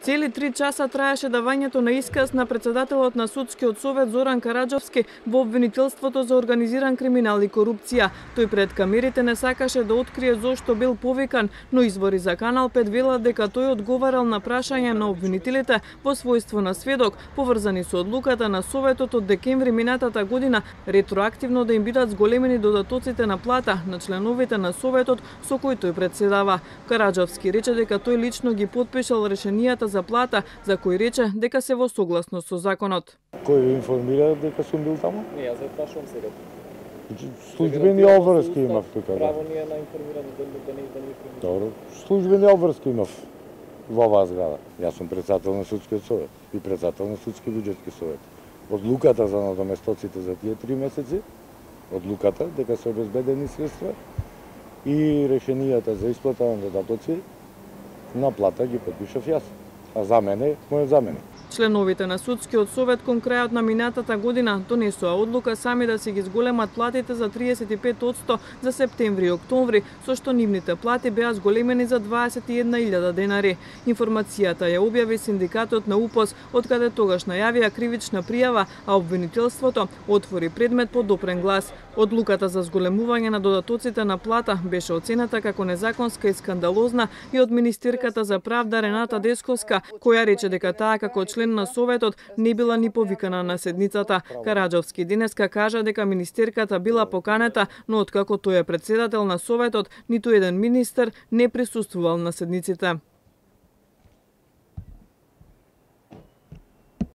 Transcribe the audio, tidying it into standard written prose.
Цели 3 часа траеше давањето на исказ на председателот на Судскиот совет Зоран Караџовски во обвинителството за организиран криминал и корупција. Тој пред камерите не сакаше да открие зошто бил повикан, но извори за Канал 5 велат дека тој одговарал на прашања на обвинителите во својство на сведок, поврзани со одлуката на Советот од декември минатата година ретроактивно да им бидат зголемени додатоците на плата на членовите на Советот со кој тој председава. Караџовски рече дека тој лично ги потпишал решенијата за плата, за кој рече дека се во согласност со законот. Кој ви информира дека сум бил таму? Не, јас ја прашувам сега. Службени обврски имав тука. Право ние на информирање да не информира. Добро, службени обврски имав во оваа зграда. Јас сум председател на Судскиот совет и председател на Судски буџетски совет. Одлуката за надоместоците за тие 3 месеци, одлуката дека се обезбедени средства и решенијата за исплата на додатоци на плата ги потпишав јас. А за мене, мојот заменик. Членовите на Судскиот совет кон крајот на минатата година донесоа одлука сами да си ги зголемат платите за 35% за септември и октомври, со што нивните плати беа зголемени за 21.000 денари. Информацијата ја објави синдикатот на УПОС, откаде тогаш најавија кривична пријава, а обвинителството отвори предмет по допрен глас. Одлуката за зголемување на додатоците на плата беше оцената како незаконска и скандалозна и од министерката за правда Рената Десковска, која рече дека таа како член на Советот не била ни повикана на седницата. Караџовски денеска кажа дека министерката била поканета, но откако тој е председател на Советот, ниту еден министер не присуствувал на седниците.